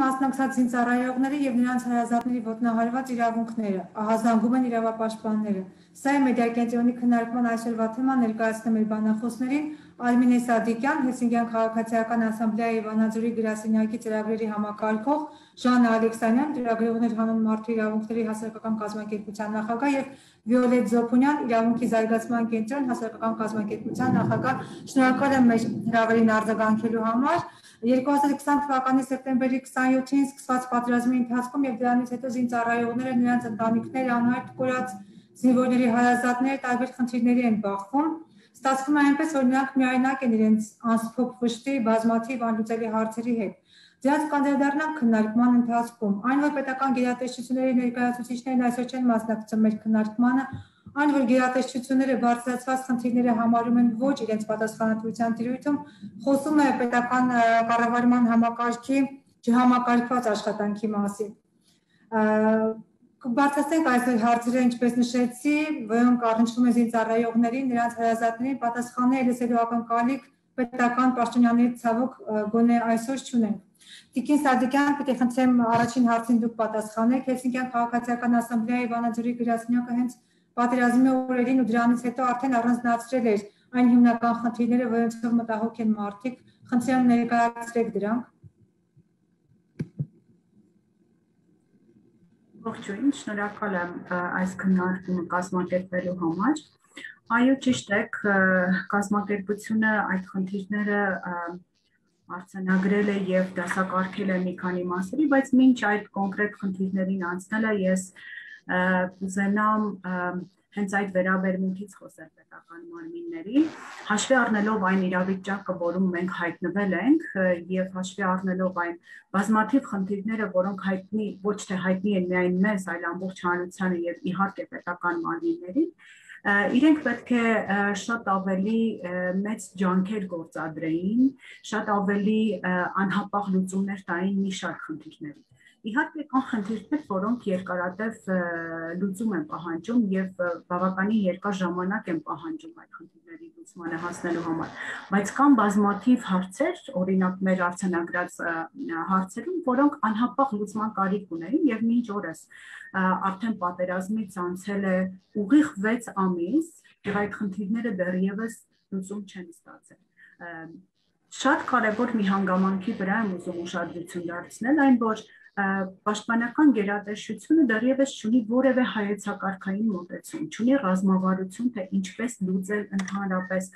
մասնակցած զինծառայողների եւ նրանց հարազատների ոտնահարված իրավունքները, ահազանգում են իրավապաշտպանները։ Սա է մեդիակենտրոնի քննարկման այսօրվա թեման, ներկայացնում էր բանախոսներին Արմինե Սադիկյան, Հելսինկյան քաղաքացիական ասամբլեայի Վանաձորի գրասենյակի ծրագրերի համակարգող, Ժաննա Ալեքսանյան, ծրագրողներ հանուն մարդու իրավունքների հասարակական կազմակերպության նախագահ եւ Վիոլետ Զոփունյան, իրավունքի զարգացման կենտրոն հասարակական կազմակերպության նախագահ։ Շնորհակալ եմ մեր հրավերին արձագանքելու համար։ 2020 թվականի սեպտեմբերի 27-ին սկսված պատերազմի ընթացքում եւ դրանից հետո զինծառայողները, նրանց ընտանիքները, անհայտ կորած զինվորների հարազատները տարբեր խնդիրների են բախվում։ Ստացվում է այնպես, որ նրանք միայնակ են իրենց անսփոփ վշտի, բազմաթիվ անլուծելի հարցերի հետ։ Դրանց կանդրադառնանք քննարկման ընթացքում։ Այն, որ պետական գերատեսչությունների ներկայացուցիչներն այսօր չեն մասնակցում մեր քննարկմանը, այն, որ գերատեսչությունները բարձրացված խնդիրները համարում են ոչ իրենց պատասխանատվության տիրույթում, խոսում է պետական կառավարման համակարգի չհամակարգված աշխատանքի մասին։ Բարձրացնենք այսօր հարցերը, ինչպես նշեցի, որոնք առնչվում են զինծառայողներին, նրանց հարազատներին, պատասխանները լսելու ակնկալիք պետական պաշտոնյաների ցավոք գոնե այսօր չունենք։ Տիկին Սադիկյան, պետք է խնդրեմ առաջին հարցին դուք պատասխանեք։ Հելսինկյան քաղաքացիական ասամբլեայի Վանաձորի գրասենյակը հենց պատերազմի օրերին ու դրանից հետո արդեն առանձնացրել էր այն հիմնական խնդիրները, որոնցով մտահոգ են մարդիկ։ Խնդրեմ ներկայացրեք դրանք։ Ողջույն, շնորհակալ եմ այս քննարկումը կազմակերպելու համար։ Այո, ճիշտ եք, կազմակերպությունը այդ խնդիրները արձանագրել է եւ դասակարգել է մի քանի մասերի, բայց մինչ այդ կոնկրետ խնդիրներին անցնելը ես կուզենամ հենց այդ վերաբերմունքից խոսել պետական մարմինների, հաշվի առնելով այն իրավիճակը, որում մենք հայտնվել ենք եւ հաշվի առնելով այն բազմաթիվ խնդիրները, որոնք հայտնի ոչ թե հայտնի են միայն մեզ, այլ ամբողջ հանրությանը եւ իհարկե պետական մարմիններին, իրենք պետք է շատ ավելի մեծ ջանքեր գործադրեին, շատ ավելի անհապաղ լուծումներ տային մի շարք խնդիրների։ Իհարկե կան խնդիրներ, որոնք երկարատև լուծում են պահանջում եւ բավականին երկար ժամանակ են պահանջում այդ խնդիրների լուծմանը հասնելու համար, բայց կան բազմաթիվ հարցեր, օրինակ մեր արձանագրած հարցերում, որոնք անհապաղ լուծման կարիք ունեն եւ մինչ օրս արդեն պատերազմից անցել է ուղիղ 6 ամիս եւ այդ խնդիրները դեռևս լուծում չեն ստացել։ Շատ կարևոր մի հանգամանքի վրա եմ ուզում ուշադրություն դարձնել, այն որ պաշտպանական գերատեսչությունը դեռևս չունի որևէ հայեցակարգային մոտեցում, չունի ռազմավարություն, թե ինչպես լուծել ընդհանրապես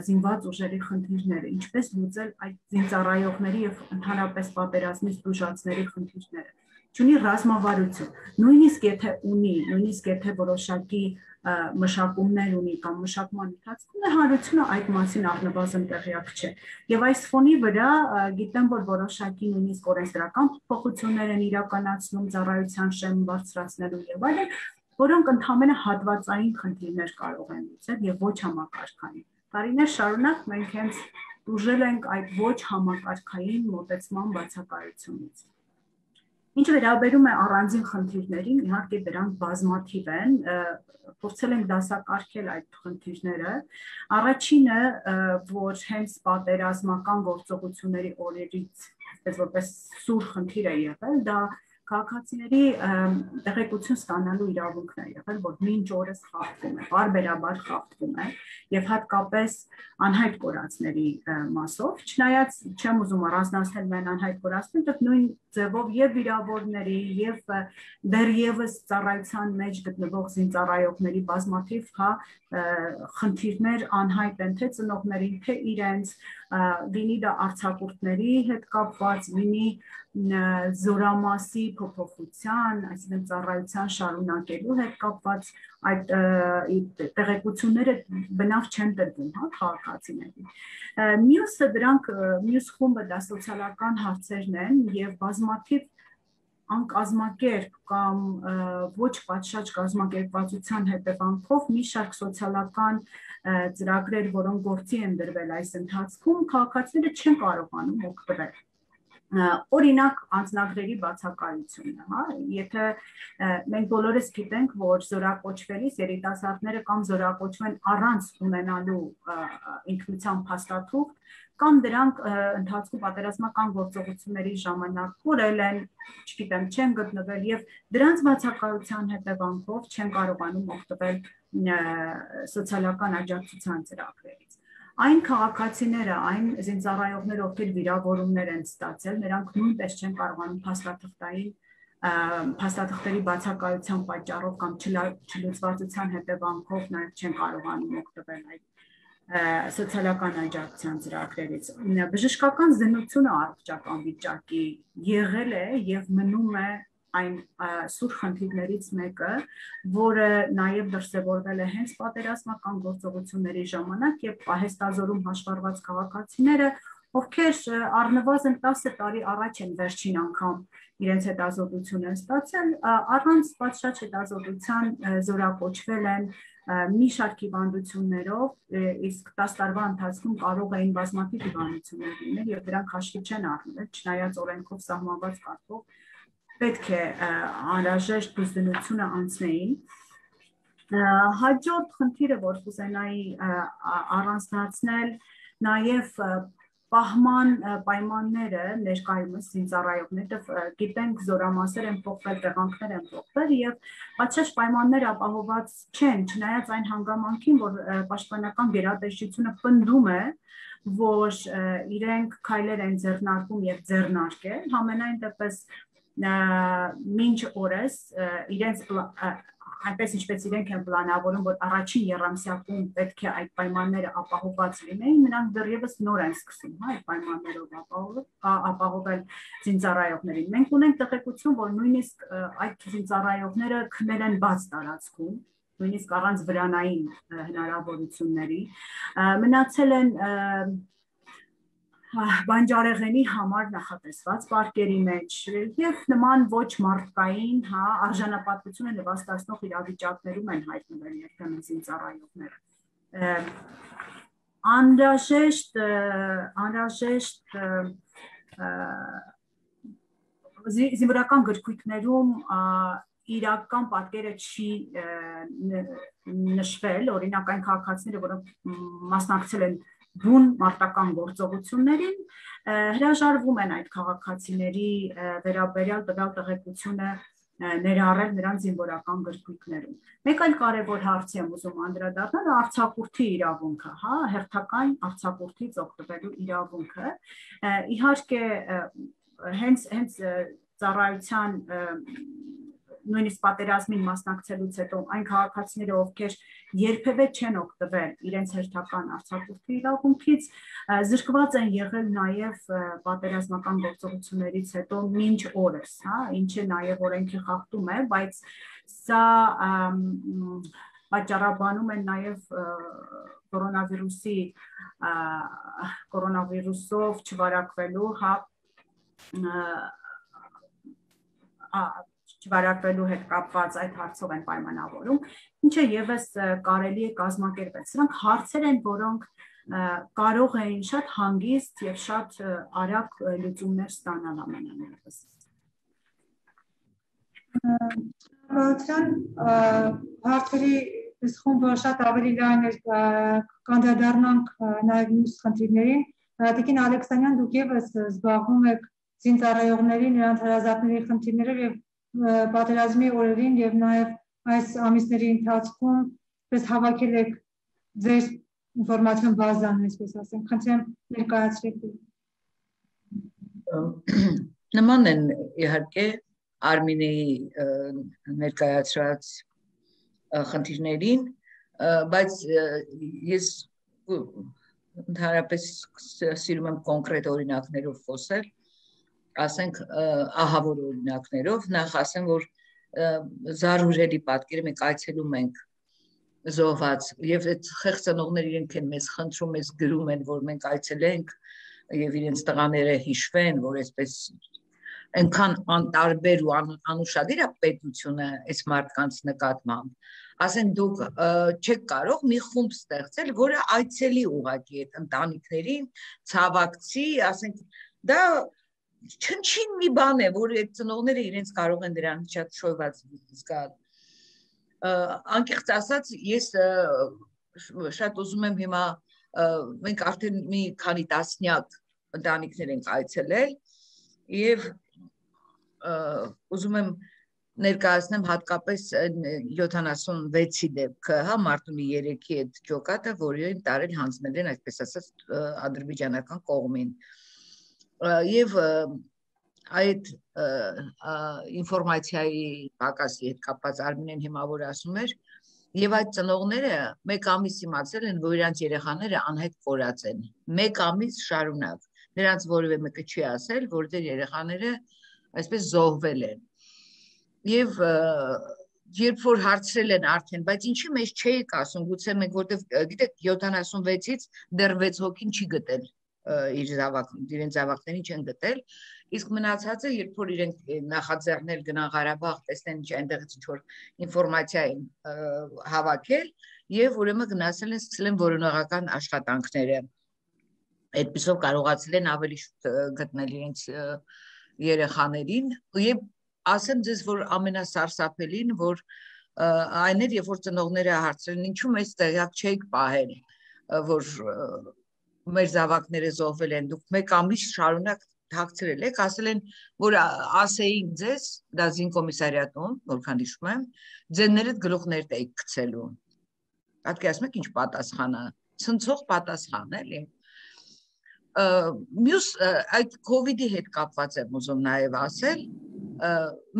զինված ուժերի խնդիրները, ինչպես լուծել այդ զինծառայողների եւ ընդհանրապես պատերազմից տուժածների խնդիրները, չունի ռազմավարություն, նույնիսկ եթե ունի, նույնիսկ եթե որոշակի մշակումներ ունի կամ մշակման ընթացքում հանրությունը այդ մասին առնվազն տեղյակ չէ։ Եվ այս ֆոնի վրա գիտեմ, որ որոշակի նույնիսկ օրենսդրական փոփոխություններ են իրականացնում ծառայության շեմ բարձրացնելու եւ այլն, որոնք ընդհանրապես հատվածային խնդիրներ կարող են լուծել եւ ոչ համակարգային։ Տարիներ շարունակ մենք հենց ուժել ենք այդ ոչ համակարգային մոտեցման բացակայությունից։ Ինչ վերաբերում է առանձին խնդիրներին, իհարկե դրանք բազմաթիվ են, փորձել ենք դասակարգել այդ խնդիրները։ Առաջինը, որ հենց պատերազմական գործողությունների օրերից, այսպես որպես սուր խնդիր է եղել, դա քաղաքացիների տեղեկություն ստանալու իրավունքն է եղել, որ մինչ օրս խախտվում է, բարբերաբար խախտվում է եւ հատկապես անհայտ կորածների մասով, չնայած չեմ ուզում առանձնացնել միայն անհայտ կորածները, դա նույն ձևով եւ վիրավորների եւ դեռևս ծառայության մեջ գտնվող զինծառայողների բազմաթիվ խնդիրներ անհայտ են թե ծնողներին, թե իրենց, լինի դա արձակուրդների հետ կապված, լինի զորամասի փոփոխության, այսինքն ծառայության շարունակելու հետ կապված այդ տեղեկությունները բնավ չեն տրվում, քաղաքացիներին։ Մյուսը դրանք մյուս խումբը դա սոցիալական հարցերն են եւ բազմաթիվ անկազմակերպ կամ ոչ պատշաճ կազմակերպվածության հետևանքով մի շարք սոցիալական ծրագրեր, որոնք գործի են դրվել այս ընթացքում, քաղաքացիները չեն կարողանում օգտվել։ Օրինակ անձնագրերի բացակայությունը, հա, եթե մենք բոլորս գիտենք, որ զորակոչվելիս երիտասարդները կամ զորակոչվեն առանց ունենալու ինքնության փաստաթուղթ, կամ դրանք ընթացքում պատերազմական գործողությունների ժամանակ կորել են, չգիտեմ, չեն գտնվել եւ դրանց բացակայության հետևանքով չեն կարողանում օգտվել սոցիալական աջակցության ծրագրերից։ Այն քաղաքացիները, այն զինծառայողները, ովքեր վիրավորումներ են ստացել, նրանք նույնպես չեն կարողանում փաստաթղթերի բացակայության պատճառով կամ չլուծվածության հետևանքով նաև չեն կարողանում օգտվել այդ սոցիալական աջակցության ծրագրերից։ Բժշկական զննությունը առողջական վիճակի եղել է եւ մնում է այն սուր խնդիրներից մեկը, որը նաև դրսևորվել է հենց պատերազմական գործողությունների ժամանակ եւ պահեստազորում հաշվառված քաղաքացիները, ովքեր առնվազն 10 տարի առաջ են վերջին անգամ իրենց հետազոտությունը ստացել, առանց պատշաճ հետազոտության զորակոչվել են մի շարք հիվանդություններով, իսկ 10 տարվա ընթացքում կարող էին բազմաթիվ հիվանդություններ լինել եւ դրանք հաշվի չեն առնել, չնայած օրենքով սահմանված կարգով պետք է անհրաժեշտ բուժությունը անցնեին։ Հաջորդ խնդիրը, որ կուզենայի առանձնացնել, նաև պահման պայմանները ներկայումս զինծառայողները գիտենք զորամասեր են փոխվել, տեղանքներ են փոխվել եւ պատշաճ պայմաններ ապահովված չեն, չնայած այն հանգամանքին, որ պաշտպանական գերատեսչությունը պնդում է, որ իրենք քայլեր են ձեռնարկում եւ ձեռնարկել, համենայն դեպս մինչ օրս իրենց այնպես ինչպես իրենք են պլանավորում, որ առաջին եռամսյակում պետք է այդ պայմանները ապահովված լինեին, նրանք դեռևս նոր են սկսում, հա, այդ պայմաններով ապահովել զինծառայողներին։ Մենք ունենք տեղեկություն, որ նույնիսկ այդ զինծառայողները քնել են բաց տարածքում, նույնիսկ առանց վրանային հնարավորությունների, մնացել են բանջարեղենի համար նախատեսված պարկերի մեջ եւ նման ոչ մարդկային, հա, արժանապատվությունը նվաստացնող իրավիճակներում են հայտնվել երբեմն զինծառայողները։ Անհրաժեշտ զինվորական գրքույկներում իրական պատկերը չի նշվել, օրինակ այն քաղաքացիները, որոնք մասնակցել են բուն մարտական գործողություններին, հրաժարվում են այդ քաղաքացիների վերաբերյալ տվյալ տեղեկությունը ներառել նրանց զինվորական գրքույկներում։ Մեկ այլ կարևոր հարցի եմ ուզում անդրադառնալ, արձակուրդի իրավունքը, հա, հերթական արձակուրդից օգտվելու իրավունքը։ Իհարկե, հենց ծառայության նույնիսկ պատերազմին մասնակցելուց հետո այն քաղաքացիները, ովքեր երբևէ չեն օգտվել իրենց հերթական արձակուրդի իրավունքից, զրկված են եղել նաև պատերազմական գործողություններից հետո մինչ օրս, հա, ինչը նաև օրենքի խախտում է, բայց սա պատճառաբանում են նաև կորոնավիրուսով չվարակվելու, հա, չվարակվելու հետ կապված այդ հարցով են պայմանավորում, ինչը եւս կարելի է կազմակերպել։ Սրանք հարցեր են, որոնք կարող էին շատ հանգիստ եւ շատ արագ լուծումներ ստանալ ամենամեծ։ Հարցերի խումբը շատ ավելի լայն էր, կանդրադառնանք նաեւ մյուս խնդիրներին։ Տիկին Ալեքսանյան, դուք եւս զբաղվում եք զինծառայողների, նրանց հարազատների խնդիրներով եւ պատերազմի օրերին եւ նաեւ այս ամիսների ընթացքում պես հավաքել եք ձեր ինֆորմացիոն բազան, այսպես ասենք, խնդրեմ ներկայացրեք։ Նման են իհարկե Արմինեի ներկայացրած խնդիրներին, բայց ես ընդհանրապես սիրում եմ կոնկրետ օրինակներով խոսել, ասենք ահավոր օրինակներով, նախ ասեմ, որ զարհուրելի պատկերը մենք այցելում ենք զոհված եւ այդ խեղծանողները իրենք են մեզ խնդրում, մեզ գրում են, որ մենք այցելենք եւ իրենց տղաները հիշվեն, որ այսպես այնքան անտարբեր ու անուշադիր է պետությունը այս մարդկանց նկատմամբ, ասեն դուք չեք կարող մի խումբ ստեղծել, որը այցելի ուղղակի այդ ընտանիքներին, ցավակցի, ասենք դա չնչին մի բան է, որ այդ ծնողները իրենց կարող են դրան շատ շոյված զգալ։ Անկեղծ ասած, ես շատ ուզում եմ հիմա մենք արդեն մի քանի տասնյակ ընտանիքներ ենք այցելել եւ ուզում եմ ներկայացնեմ հատկապես 76-ի դեպքը, հա, մարտունի 3-ի այդ ջոկատը, որին տարել հանձնել են, այսպես ասած, ադրբեջանական կողմին։ Եվ այդ ինֆորմացիայի պակասի հետ կապված Արմինեն հիմա որ ասում էր, եւ այդ ծնողները մեկ ամիս իմացել են, որ իրանց երեխաները անհետ կորած են։ Մեկ ամիս շարունակ։ Նրանց որևէ մեկը չի ասել, որ դեր երեխաները այսպես զոհվել են։ Եվ երբ որ հարցրել են արդեն, բայց ինչի մեջ չէիք ասում, գուցե մենք որտեվ գիտեք 76-ից դեռ 6 հոգին չի գտել իրենց զավակներին չեն գտել, իսկ մնացածը երբ որ իրենք նախաձեռնել գնան Ղարաբաղ, տեսնեն ինչ այնտեղից ինչ որ ինֆորմացիա են հավաքել եւ ուրեմն գնացել են սկսել են որոնողական աշխատանքները։ Այդպիսով կարողացել են ավելի շուտ գտնել իրենց երեխաներին եւ ասեմ ձեզ, որ ամենասարսափելին, որ այն էր, երբ որ ծնողները հարցրին, ինչու մեզ տեղյակ չէիք պահել, որ մեր զավակները զոհվել են, դուք մեկ ամիս շարունակ թաքցրել եք, ասել են, որ ասեին ձեզ, դա զինկոմիսարիատում, որքան հիշում եմ, ձեններդ գլուխներդ էիք գցելու։ Պատկերացնում եք ինչ պատասխան է, ցնցող պատասխան, էլի։ Մյուս այդ COVID-ի հետ կապված եմ ուզում նաև ասել,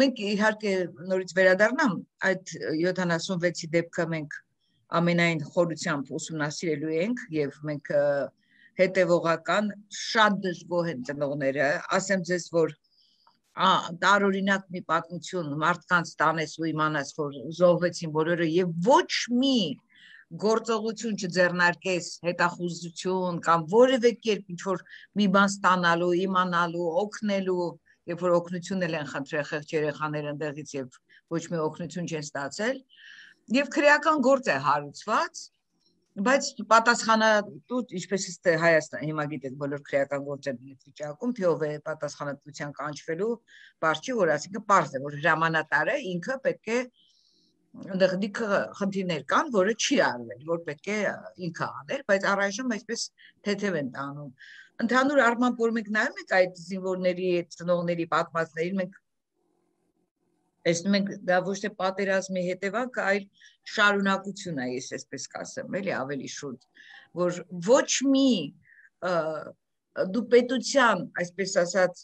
մենք իհարկե նորից վերադառնամ այդ 76-ի դեպքը մենք ամենայն խորությամբ ուսումնասիրելու ենք եւ մենք հետեւողական շատ դժգոհ են ծնողները, ասեմ ձեզ, որ տարօրինակ մի պատմություն մարդկանց տանես ու իմանաս, որ զոհվեցին բոլորը եւ ոչ մի գործողություն չձեռնարկես, հետախուզություն կամ որևէ կերպ ինչ որ մի բան ստանալու, իմանալու, օգնելու, երբ որ օգնություն են խնդրել խեղճ երեխաները ընդեղից եւ ոչ մի օգնություն չեն ստացել, եւ քրեական գործ է հարուցված, բայց պատասխանատու, ինչպես է Հայաստան, հիմա գիտեք բոլոր քրեական գործերն են վիճակում, թե ով է պատասխանատվության կանչվելու, բարձ չի, որ ասինքն պարզ է, որ հրամանատարը ինքը պետք է ընդդիք խնդիրներ կան, որը չի արվել, որ պետք է ինքը աներ, բայց առայժմ այսպես թեթև են տանում։ Ընդհանուր առմամբ, որ մենք նայում ենք այդ զինվորների, այդ ծնողների պատմածներին, մենք տեսնում ենք դա ոչ թե պատերազմի հետևանք, այլ շարունակություն է, ես այսպես կասեմ, էլի ավելի շուտ, որ ոչ մի դու պետության, այսպես ասած,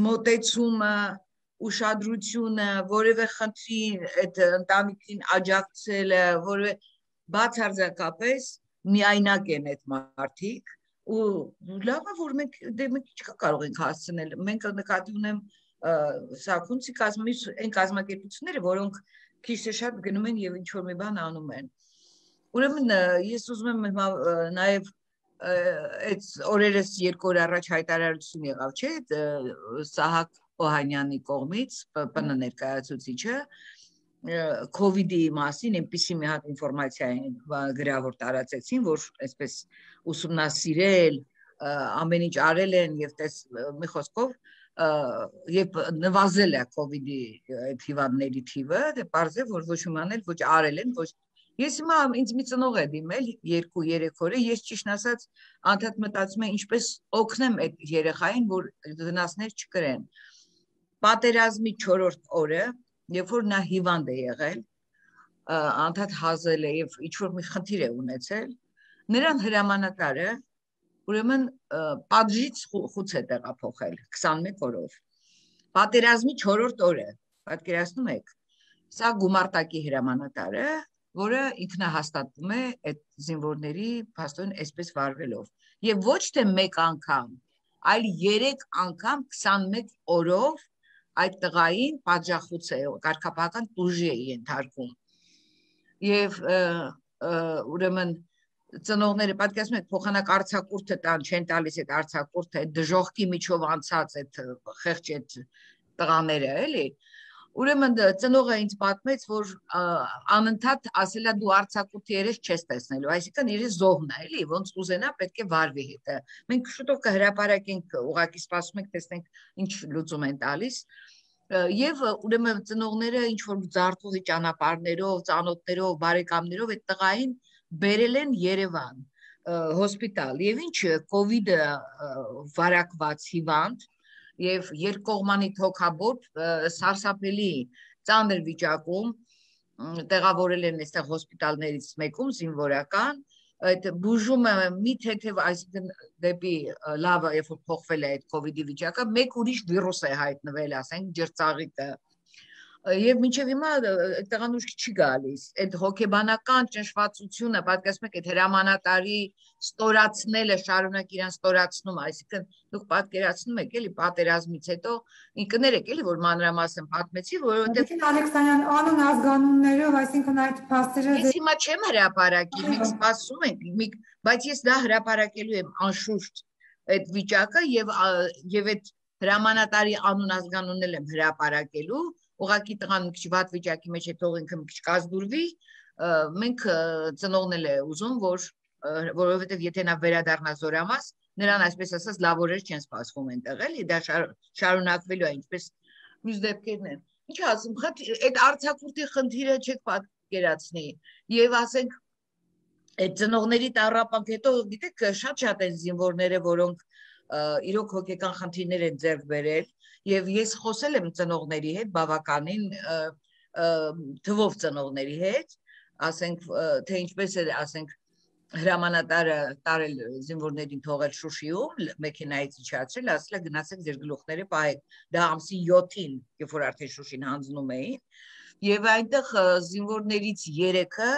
մոտեցումը ուշադրությունը, որևէ խնդիր այդ ընտանիքին աջակցելը, որևէ բացարձակապես միայնակ են այդ մարդիկ ու լավ է, որ մենք չկա կարող ենք հասցնել, մենք նկատի ունեմ Սաքունցի այն կազմակերպությունները, որոնք քիչ թե շատ գնում են եւ ինչ որ մի բան անում են։ Ուրեմն ես ուզում եմ հիմա նաեւ այդ օրերս 2 օր առաջ հայտարարություն եղավ, չէ՞, Սահակ Օհանյանի կողմից ՊՊՆ ներկայացուցիչը COVID-ի մասին այնպիսի մի հատ ինֆորմացիա գրավոր տարածեցին, որ այսպես ուսումնասիրել, ամեն ինչ արել են եւ մի խոսքով եւ նվազել է COVID-ի այդ հիվանդների թիվը, դե պարզ է, որ ոչ իմանել, ոչ արել են, ոչ Ես հիմա ինձ մի ծնող է դիմել 2-3 օրը, ես ճիշտ ասած անդադ մտածում եմ ինչպես օգնեմ այդ երեխային, որ վնասներ չկրեն։ Պատերազմի 4-րդ օրը, երբ որ նա հիվանդ է եղել, անդադ հազել է եւ ինչ-որ մի խնդիր է ունեցել, նրան հրամանատարը ուրեմն պատժից խուց է տեղափոխել 21 օրով։ Պատերազմի 4-րդ օրը, պատկերացնում եք, սա գումարտակի հրամանատարը, որը ինքնահաստատվում է այդ զինվորների փաստորեն այսպես վարվելով եւ ոչ թե մեկ անգամ, այլ 3 անգամ 21 օրով այդ տղային պատժախուց է, կարգապահական տուժի է ենթարկում եւ ուրեմն ծնողները պատկերացնում եք փոխանակ արձակուրդը տան չեն տալիս այդ արձակուրդը այդ դժողքի միջով անցած այդ խեղճ այդ տղաները էլի Ուրեմն ծնողը ինձ պատմեց, որ անընդհատ ասելա դու արձակուրդի երես չես տեսնելու, այսինքն իր զոհն է, էլի, ոնց ուզենա պետք է վարվի հետը։ Մենք շուտով կհրապարակենք, ուղղակի սպասում ենք, տեսնենք ինչ լուծում են տալիս։ Եվ ուրեմն ծնողները ինչ որ ձարտուղի ճանապարհներով, ծանոթներով, բարեկամներով այդ տղային բերել են Երևան հոսպիտալ եւ ինչ կովիդը վարակված հիվանդ եւ երկկողմանի թոքաբոտ սարսափելի ծանր վիճակում տեղավորել են այստեղ հոսպիտալներից մեկում զինվորական այդ բուժումը մի թեթև այսինքն դեպի լավը երբ որ փոխվել է այդ կովիդի վիճակը մեկ ուրիշ վիրուս է հայտնվել ասենք ջրծաղիկը եւ մինչեւ հիմա այդտեղան ուշքի չի գալիս այդ հոգեբանական ճնշվածությունը պատկերացնում եք այդ հրամանատարի ստորացնելը շարունակ իրան ստորացնում այսինքն դուք պատկերացնում եք էլի պատերազմից հետո ինքներեք էլի որ մանրամասն պատմեցի որովհետեւ Ալեքսանյան անուն ազգանուններով այսինքն այդ փաստերը ես հիմա չեմ հրապարակի մենք սպասում ենք բայց ես դա հրապարակելու եմ անշուշտ այդ վիճակը եւ այդ հրամանատարի անուն ազգանունն եմ հրապարակելու ուղղակի տղան մի քիչ վատ վիճակի մեջ է թող ինքը մի քիչ կազդուրվի մենք ծնողնել է ուզում որովհետև եթե նա վերադառնա Զորամաս նրան այսպես ասած լավ օրեր չեն սպասվում այնտեղ էլի դա շարունակվելու է ինչպես մյուս դեպքերն են ինչ ասում այդ արձակուրդի խնդիրը չեք պատկերացնի եւ ասենք այդ ծնողների տառապանք հետո գիտեք շատ են զինվորները որոնք իրոք հոգեկան խնդիրներ են ձեռք բերել եւ ես խոսել եմ ծնողների հետ բավականին թվով ծնողների հետ ասենք թե ինչպես է ասենք հրամանատարը տարել զինվորներին թողել Շուշիում մեքենայից իջացրել ասել է գնացեք ձեր գլուխները պահեք դա ամսի 7-ին երբ որ արդեն Շուշին հանձնում էին եւ այնտեղ զինվորներից 3-ը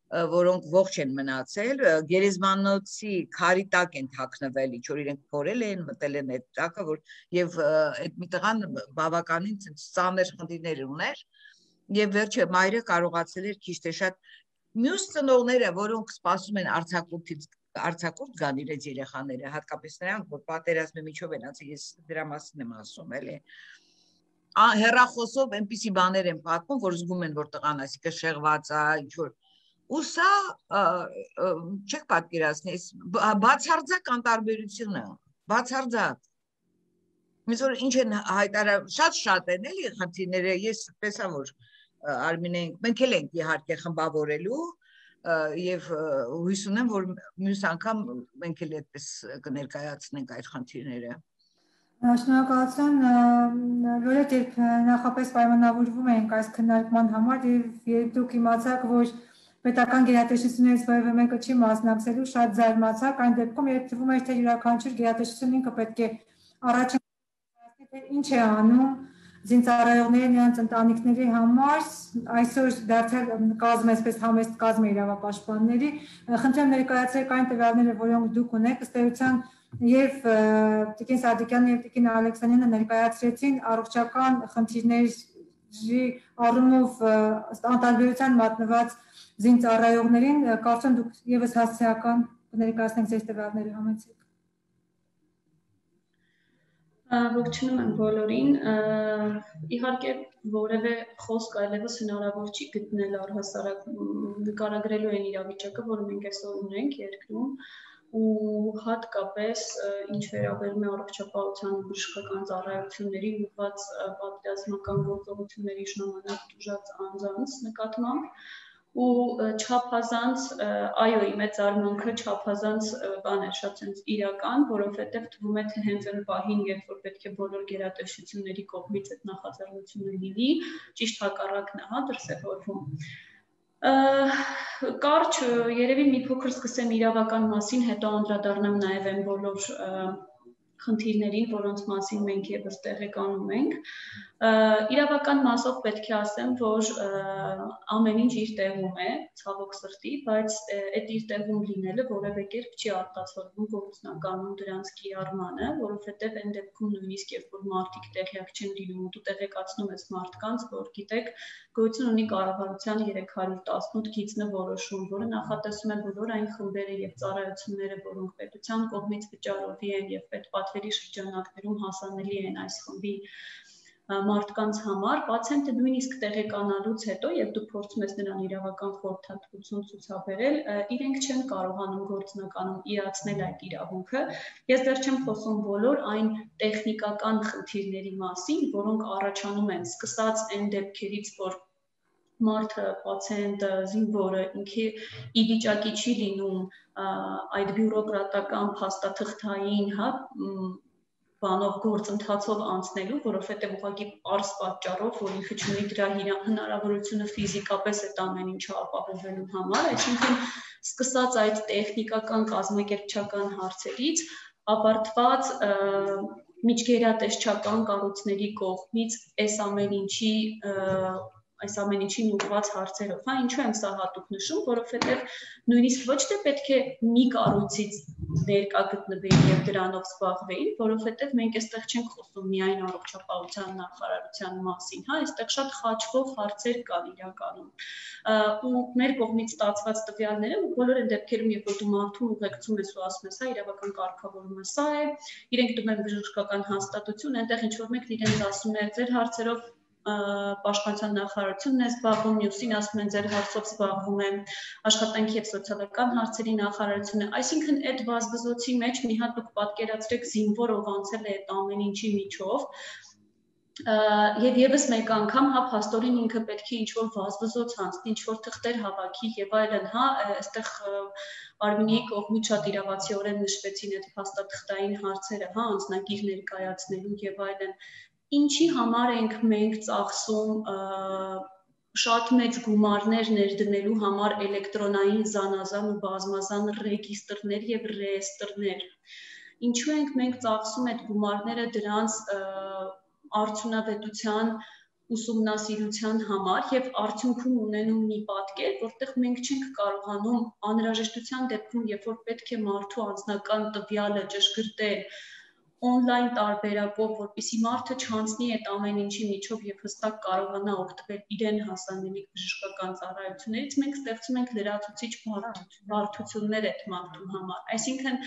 որոնք ողջ են մնացել գերեզմանոցի քարի տակ են թաքնվել ինչ որ իրենք փորել են մտել են այդ տակը որ եւ այդ մի տղան բավականին ծանր խնդիրներ ուներ եւ վերջը մայրը կարողացել էր քիչ թե շատ մյուս ծնողները որոնք սպասում են արձակուրդ գան իրենց երեխաները հատկապես նրանք որ պատերազմի միջով են ասել ես դրա մասին եմ ասում էլի հեռախոսով այնպիսի բաներ են պատմում որ զգում են որ տղան այսիկը շեղված է ինչ որ ու սա չեք պատկերացնի բացարձակ անտարբերությունը բացարձակ Միշտ որ ինչ են հայտարարում շատ են էլի խնդիրները ես տեսա որ Արմինեն մենք էլ ենք իհարկե խմբավորելու եւ հույս ունեմ որ մյուս անգամ մենք էլ այդպես կներկայացնենք այդ խնդիրները Շնորհակալություն որովհետեւ նախապես պայմանավորվում ենք այս քննարկման համար եւ դուք իմացաք որ պետական գերատեսչությունից որևէ մեկը չի մասնակցելու շատ զարմացակ այն դեպքում երբ թվում է թե յուրաքանչյուր գերատեսչություն ինքը պետք է առաջին թե ինչ է անում զինծառայողների նրանց ընտանիքների համար այսօր դարձել կազմ այսպես համեստ կազմ է իրավապաշտպանների խնդրեմ ներկայացրեք այն տվյալները որոնք դուք ունեք ըստ էության եւ Տիկին Սադիկյանը եւ Տիկին Ալեքսանյանը ներկայացրեցին առողջական խնդիրների առումով անտարբերության մատնված զինծառայողներին կարծում դուք եւս հասցեական կներկայացնեք ձեր տվյալների համեցեք Ողջունում եմ բոլորին իհարկե որևէ խոսք այլևս հնարավոր չի գտնել առհասարակ նկարագրելու այն իրավիճակը որը մենք այսօր ունենք երկրում ու հատկապես ինչ վերաբերում է առողջապահության ու բժշկական ծառայությունների ուղղված պատերազմական գործողությունների ժամանակ տուժած անձանց նկատմամբ ու չափազանց այո մեծ արմանքը չափազանց բան է շատ sense իրական որովհետև թվում է թե հենց այն պահին երբ որ պետք է բոլոր գերատեսչությունների կողմից այդ նախաձեռնությունը լինի ճիշտ հակառակն է հա դրսևորվում կարճ երևի մի փոքր սկսեմ իրավական մասին հետո անդրադառնամ նաև այն բոլոր խնդիրներին, որոնց մասին մենք եւս տեղեկանում ենք իրավական մասով պետք է ասեմ, որ ամեն ինչ իր տեղում է, ցավոք սրտի, բայց այդ իր տեղում լինելը որևէ կերպ չի արտացոլվում գործնականում դրանց կիրառմանը, որովհետև այն դեպքում նույնիսկ երբ որ մարդիկ տեղյակ չեն լինում ու դու տեղեկացնում ես մարդկանց, որ գիտեք, գոյություն ունի կառավարության 318 գիծն որոշում, որը նախատեսում է բոլոր այն խմբերը եւ ծառայությունները, որոնք պետության կողմից վճարովի են եւ պետպատվերի շրջանակներում հասանելի են այս խմբի մարդկանց համար, պացիենտը նույնիսկ տեղեկանալուց հետո, եւ դու փորձում ես նրան իրավական խորհրդատվություն ցուցաբերել, իրենք չեն կարողանում գործնականում իրացնել այդ իրավունքը։ Ես դեռ չեմ խոսում բոլոր այն տեխնիկական խնդիրների մասին, որոնք առաջանում են, սկսած այն դեպքերից, որ մարդը, պացիենտը, զինվորը ինքը ի վիճակի չի լինում այդ բյուրոկրատական փաստաթղթային, բանով գործընթացով անցնելու, որովհետև ուղղակի պարզ պատճառով, որ ինքը չունի դրա հնարավորությունը ֆիզիկապես այդ ամեն ինչը ապահովելու համար, այսինքն սկսած այդ տեխնիկական կազմակերպչական հարցերից, ավարտված միջգերատեսչական կառույցների կողմից այս ամեն ինչին ուղղված հարցերով, ինչու եմ սա հատուկ նշում, որովհետև նույնիսկ ոչ թե պետք է մի կառույցից ներկա գտնվեին եւ դրանով զբաղվեին, որովհետեւ մենք այստեղ չենք խոսում միայն առողջապահության նախարարության մասին, այստեղ շատ խաչվող հարցեր կան իրականում։ Ու մեր կողմից ստացված տվյալները բոլոր այն դեպքերում, երբ որ դու մարդուն ուղեկցում ես ու ասում ես, իրավական կարգավորումը սա է, իրենք տում են բժշկական հաստատություն, այնտեղ ինչ որ մեկն իրենց ասում է, ձեր հարցերով Պաշտպանության նախարարությունն է զբաղվում, մյուսին ասում են ձեր հարցով զբաղվում է աշխատանքի եւ սոցիալական հարցերի նախարարությունը, այսինքն այդ վազվզոցի մեջ մի հատ դուք պատկերացրեք զինվոր ով անցել է այդ ամեն ինչի միջով եւ եւս մեկ անգամ փաստորեն ինքը պետք է ինչ-որ վազվզոց անցնի, ինչ-որ թղթեր հավաքի եւ այլն, այստեղ Արմինեի կողմից շատ իրավացիորեն նշվեցին այդ փաստաթղթային հարցերը, անձնագիր ներկայացնելու եւ այլն, ինչի համար ենք մենք ծախսում շատ մեծ գումարներ ներդնելու համար էլեկտրոնային զանազան ու բազմազան ռեգիստրներ եւ ռեեստրներ, ինչու ենք մենք ծախսում այդ գումարները դրանց արդյունավետության ուսումնասիրության համար եւ արդյունքում ունենում մի պատկեր, որտեղ մենք չենք կարողանում անհրաժեշտության դեպքում, երբ որ պետք է մարդու անձնական տվյալը ճշգրտել on-line տարբերակով, որպեսզի մարդը չանցնի այդ ամեն ինչի միջով եւ հստակ կարողանա օգտվել իրեն հասանելի բժշկական ծառայություններից, մենք ստեղծում ենք լրացուցիչ բարդություններ այդ մարդու համար։ Այսինքն,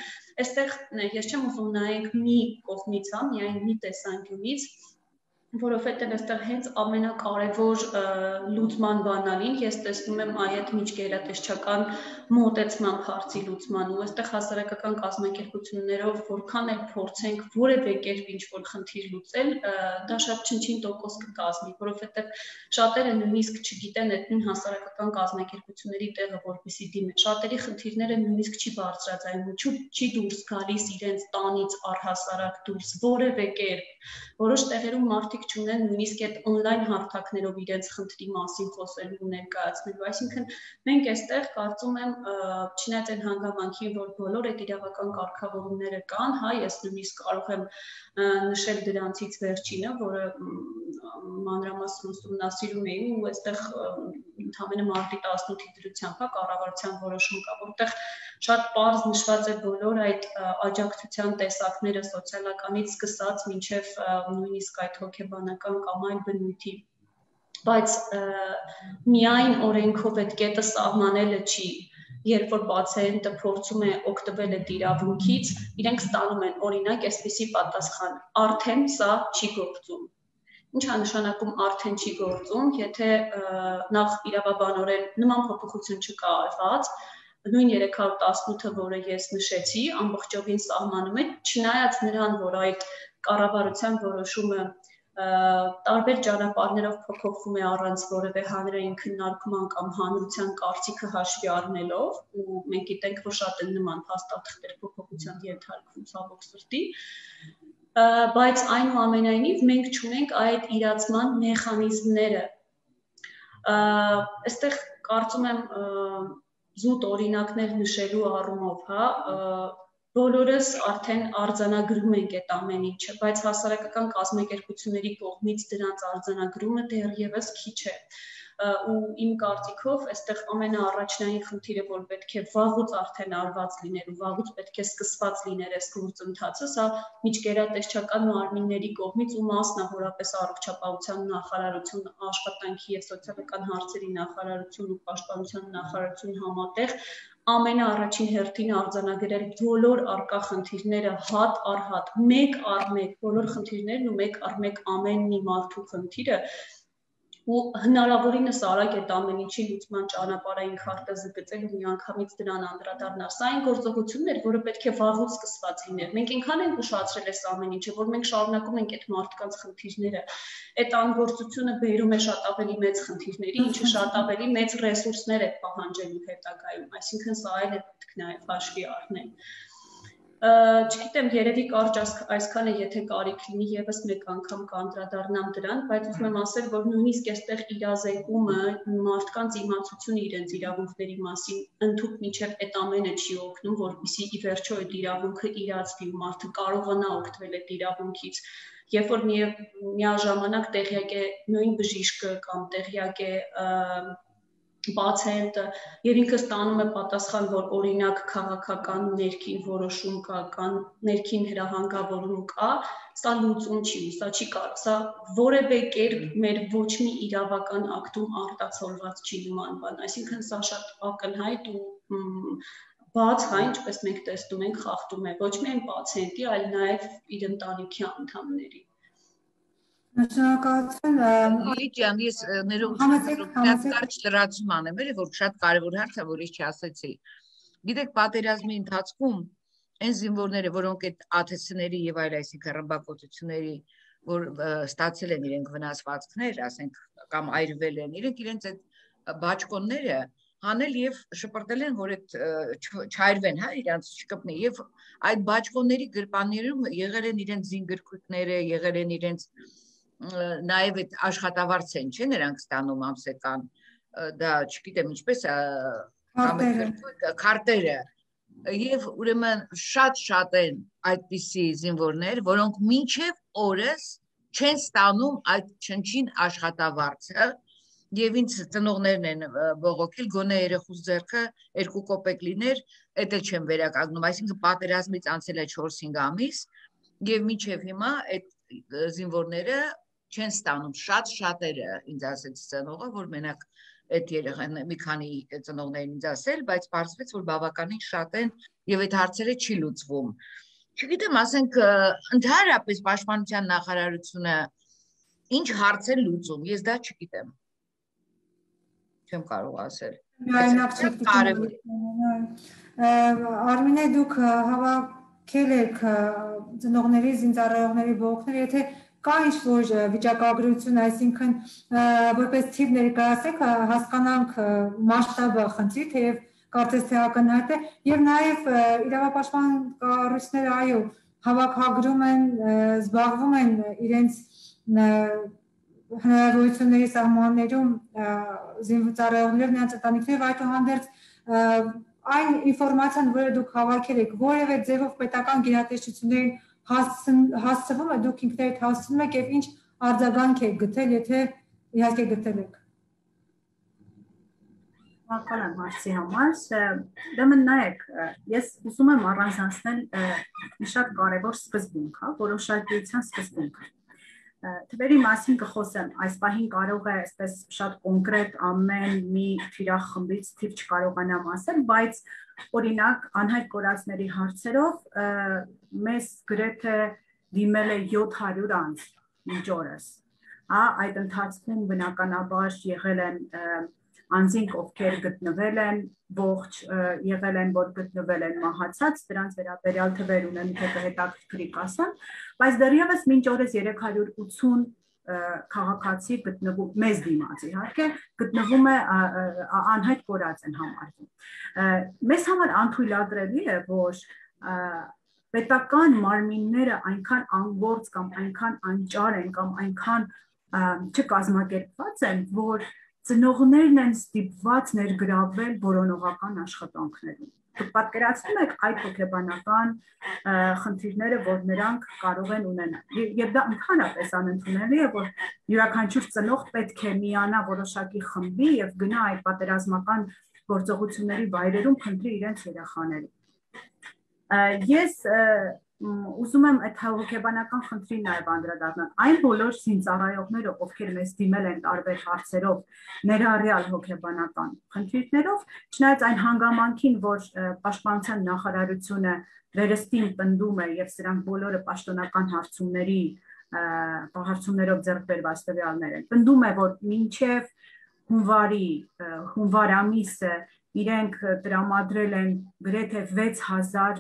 այստեղ ես չեմ ուզում նայենք մի կողմից, միայն մի տեսանկյունից, որովհետև այստեղ հենց ամենակարևոր լուծման բանալին ես տեսնում եմ այդ միջգերատեսչական մոտեցման հարցի լուծման ու այստեղ հասարակական կազմակերպություններով որքան էլ փորձենք որևէ կերպ ինչ-որ խնդիր լուծել, դա շատ չնչին տոկոս կկազմի, որովհետև շատերը նույնիսկ չգիտեն այդ նույն հասարակական կազմակերպությունների տեղը որպեսզի դիմեն, շատերի խնդիրները նույնիսկ չի բարձրաձայնում, չի դուրս գալիս իրենց տանից առհասարակ դուրս որևէ կերպ, որոշ տեղերում մարդիկ չունեն նույնիսկ այդ on-line հարթակներով իրենց խնդրի մասին խոսելու ու ներկայացնելու, այսինքն մենք այստեղ կարծում եմ չնայած այն հանգամանքին, որ բոլոր այդ իրավական կարգավորումները կան, ես նույնիսկ կարող եմ նշել դրանցից վերջինը, որը մանրամասն ուսումնասիրում էի ու այստեղ ընդամենը մարտի 18-ի դրությամբ կառավարության որոշում կա, որտեղ շատ պարզ նշված է բոլոր այդ աջակցության տեսակները սոցիալականից սկսած մինչև նույնիսկ այդ հոգեբանական կամ այլ բնույթի, բայց միայն օրենքով այդ կետը սահմանելը չի, երբ որ պացիենտը փորձում է օգտվել այդ իրավունքից, իրենք ստանում են օրինակ այսպիսի պատասխան, արդեն սա չի գործում։ Ինչ է նշանակում արդեն չի գործում, եթե նախ իրավաբանորեն նման փոփոխություն չկա արված, նույն 318-ը, որը ես նշեցի, ամբողջովին սահմանում է, չնայած նրան, որ այդ կառավարության որոշումը տարբեր ճանապարհներով փոփոխվում է առանց որևէ հանրային քննարկման կամ հանրության կարծիքը հաշվի առնելով, ու մենք գիտենք, որ շատ են նման փաստաթղթեր փոփոխության ենթարկվում ցավոք սրտի, բայց այնուամենայնիվ մենք չունենք այդ իրացման մեխանիզմները։ Այստեղ կարծում եմ զուտ օրինակներ նշելու առումով, բոլորս արդեն արձանագրում ենք այդ ամեն ինչը, բայց հասարակական կազմակերպությունների կողմից դրանց արձանագրումը դեռևս քիչ է։ Ու իմ կարծիքով այստեղ ամենաառաջնային խնդիրը, որ պետք է վաղուց արդեն արված լիներ ու վաղուց պետք է սկսված լիներ այս գործընթացը, սա միջգերատեսչական մարմինների կողմից ու մասնավորապես առողջապահության նախարարություն, աշխատանքի եւ սոցիալական հարցերի նախարարություն ու պաշտպանության նախարարություն համատեղ ամենաառաջին հերթին արձանագրել բոլոր արկա խնդիրները հատ առ հատ, մեկ առ մեկ, բոլոր խնդիրներն ու մեկ առ մեկ ամեն մի մարդու խնդիրը ու հնարավորինս արագ այդ ամեն ինչի լուծման ճանապարհային քարտը զգծել ու միանգամից դրան անդրադառնալ։ Սա այն գործողությունն էր, որը պետք է վաղուց սկսված լիներ։ Մենք այնքան ենք ուշադրել այս ամեն ինչը, որ մենք շարունակում ենք այդ մարդկանց խնդիրները։ Այդ անգործությունը բերում է շատ ավելի մեծ խնդիրների, ինչը շատ ավելի մեծ ռեսուրսներ է պահանջելու հետագայում, այսինքն սա այլ է պետք նաև հաշվի առնել։ Չգիտեմ, երևի կարճ այսքանը, եթե կարիք լինի եւս մեկ անգամ կանդրադառնամ դրան, բայց ուզում եմ ասել, որ նույնիսկ այստեղ իրազեկումը, մարդկանց իմացությունը իրենց իրավունքների մասին ընդհանուր միջև այդ ամենը չի օգնում, որպեսզի ի վերջո այդ իրավունքը իրացվի ու մարդը կարողանա օգտվել այդ իրավունքից։ Երբ որ միաժամանակ տեղյակ է նույն բժիշկը կամ տեղյակ է պացիենտը եւ ինքը ստանում է պատասխան, որ օրինակ քաղաքական ներքին որոշում կա, կան ներքին հրահանգավորում կա, սա լուծում չի, սա չի կարող, սա որևէ կերպ մեր ոչ մի իրավական ակտում արտացոլված չի նման բան, այսինքն սա շատ ակնհայտ ու բաց հա, ինչպես մենք տեսնում ենք, խախտում է ոչ միայն պացիենտի, այլ նաեւ իր ընտանիքի անդամների։ Շնորհակալություն։ Լիլի ջան, ես ներողություն կարճ լրացում անեմ, որ շատ կարևոր հարց է, որ ես չասեցի։ Գիտեք, պատերազմի ընթացքում այն զինվորները, որոնք այդ ԱԹՍ-ների եւ այլ, այսինքն ռմբակոծությունների, որ ստացել են իրենք վնասվածքներ, ասենք, կամ այրվել են, իրենց այդ բաճկոնները հանել եւ շպրտել են, որ այդ չայրվեն, հա, իրանց չկպնի եւ այդ բաճկոնների գրպաններում եղել են իրենց զինգրքույկները, եղել են իրենց նաև այդ աշխատավարձ են, չէ՞, նրանք ստանում ամսական, դա չգիտեմ ինչպես քարտերը եւ ուրեմն շատ են այդպիսի զինվորներ, որոնք մինչեւ օրս չեն ստանում այդ չնչին աշխատավարձը եւ ինձ ծնողներն են բողոքել, գոնե երեխուս ձեռքը 2 կոպեկ լիներ, դա չեմ վերականգնում, այսինքն պատերազմից անցել է 4-5 ամիս եւ մինչեւ հիմա այդ զինվորները չեն ստանում, շատերը ինձ ասեց ծնողը, որ մենակ այդ երեխան մի քանի ծնողներին ինձ ասել, բայց պարզվեց, որ բավականին շատ են եւ այդ հարցերը չի լուծվում։ Չգիտեմ, ասենք ընդհանրապես պաշտպանության նախարարությունը ինչ հարց է լուծում, ես դա չգիտեմ։ Չեմ կարող ասել։ Արմինե, դուք հավաքել եք ծնողների, զինծառայողների բողոքները, եթե կա ինչ-որ վիճակագրություն, այսինքն որպես թիվ ներկայացեք, հասկանանք մասշտաբը խնդրի, թեև կարծես թե ակնհայտ է, եւ նաեւ իրավապաշտպան կառույցները, այո, հավաքագրում են, զբաղվում են իրենց հնարավորությունների սահմաններում զինծառայողներ, նրանց ընտանիքներ, այդուհանդերձ այն ինֆորմացիան, որը դուք հավաքել եք, որևէ ձևով պետական գերատեսչություններին հասցվում է, դուք ինքներդ հասցնում եք եւ ինչ արձագանք եք գտել, եթե իհարկե գտել եք։ Շնորհակալ եմ հարցի համար։ Ուրեմն նայեք, ես ուզում եմ առանձնացնել մի շատ կարևոր սկզբունք, հա, որոշակիության սկզբունքը։ Թվերի մասին կխոսեմ, այս պահին կարող է այսպես շատ կոնկրետ ամեն մի թիրախմբից թիվ չկարողանամ ասել, բայց օրինակ անհայտ կորածների հարցերով մեզ գրեթե դիմել է 700 անձ մինչ օրս։ Այդ ընթացքում բնականաբար եղել են անձինք, ովքեր գտնվել են ողջ, եղել են, որ գտնվել են մահացած, դրանց վերաբերյալ թվեր ունեմ, թե կհետաքրքրի կասեմ, բայց դեռևս մինչ օրս 380 քաղաքացի գտնվում, մեզ դիմաց իհարկե, գտնվում է անհայտ կորած են համարվում։ Մեզ համար անթույլատրելի է, որ պետական մարմինները այնքան անգործ կամ այնքան անճար են կամ այնքան չկազմակերպված են, որ ծնողներն են ստիպված ներգրավվել որոնողական աշխատանքներում։ Դուք պատկերացնում եք այդ հոգեբանական խնդիրները, որ նրանք կարող են ունենալ։ Եվ դա ընդհանրապես անընդունելի է, որ յուրաքանչյուր ծնող պետք է միանա որոշակի խմբի եւ գնա այդ պատերազմական գործողությունների վայրերում փնտրի իրենց երեխաներին։ Ես ուզում եմ այդ հոգեբանական խնդրին նաև անդրադառնալ։ Այն բոլոր զինծառայողները, ովքեր մեզ դիմել են տարբեր հարցերով, ներառյալ հոգեբանական խնդիրներով, չնայած այն հանգամանքին, որ Պաշտպանության նախարարությունը վերստին պնդում է եւ սրանք բոլորը պաշտոնական հարցումներով ձեռք բերված տվյալներ են, պնդում է, որ մինչև հունվար ամիսը իրենք տրամադրել են գրեթե 6000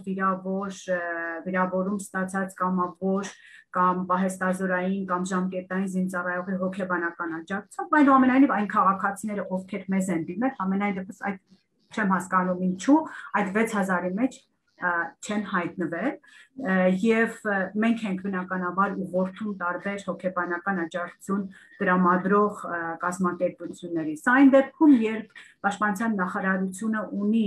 վիրավորում ստացած կամավոր կամ պահեստազորային կամ ժամկետային զինծառայողի հոգեբանական աջակցությամբ, այնուամենայնիվ այն քաղաքացիները, ովքեր մեզ են դիմել, ամենայն դեպս այդ չեմ հասկանում ինչու, այդ 6000-ի մեջ չեն հայտնվել եւ մենք ենք բնականաբար ուղղորդում տարբեր հոգեբանական աջակցություն տրամադրող կազմակերպությունների։ Սա այն դեպքում, երբ Պաշտպանության նախարարությունը ունի